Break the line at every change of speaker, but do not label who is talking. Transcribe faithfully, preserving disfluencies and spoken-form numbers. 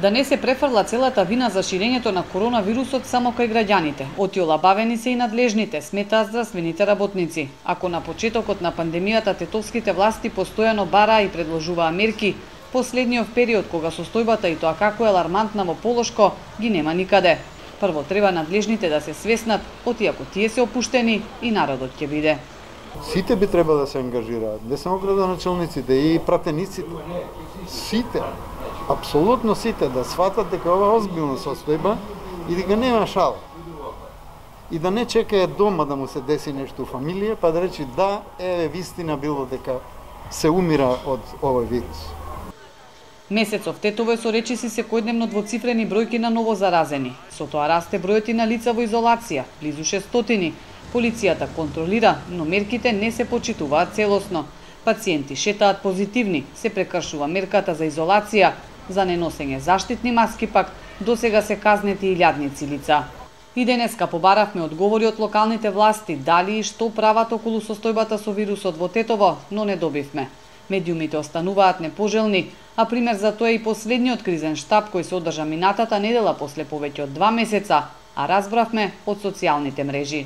Да не се префрла целата вина за ширењето на коронавирусот само кај граѓаните. Отиола бавени се и надлежните, сметаат здравствените работници. Ако на почетокот на пандемијата тетовските власти постојано бараа и предложуваа мерки, последниот период кога состојбата и тоа како е алармантна во Полошко ги нема никаде. Прво треба надлежните да се свеснат, отиако тие се опуштени и народот ќе биде.
Сите би треба да се ангажираат, не само градоначалниците и пратениците. Сите, апсолутно сите да сватат дека ова е озбилна состојба и дека нема шал. И да не чекаат дома да му се деси нешто у фамилија, па да речи да, еве вистина било дека се умира од овој вирус.
Месецов тетово е со речиси секојдневно двоцифрени бројки на ново заразени. Со тоа расте бројот и на лица во изолација, близу шестстотини. Полицијата контролира, но мерките не се почитуваат целосно. Пациенти шетаат позитивни, се прекршува мерката за изолација, за неносење заштитни маски пак досега се казнети илјадници лица. И денеска побаравме одговори од локалните власти дали и што прават околу состојбата со вирусот во Тетово, но не добивме. Медиумите остануваат непожелни, а пример за тоа е и последниот кризен штаб кој се одржа минатата недела после повеќе од два месеца, а разбравме од социјалните мрежи.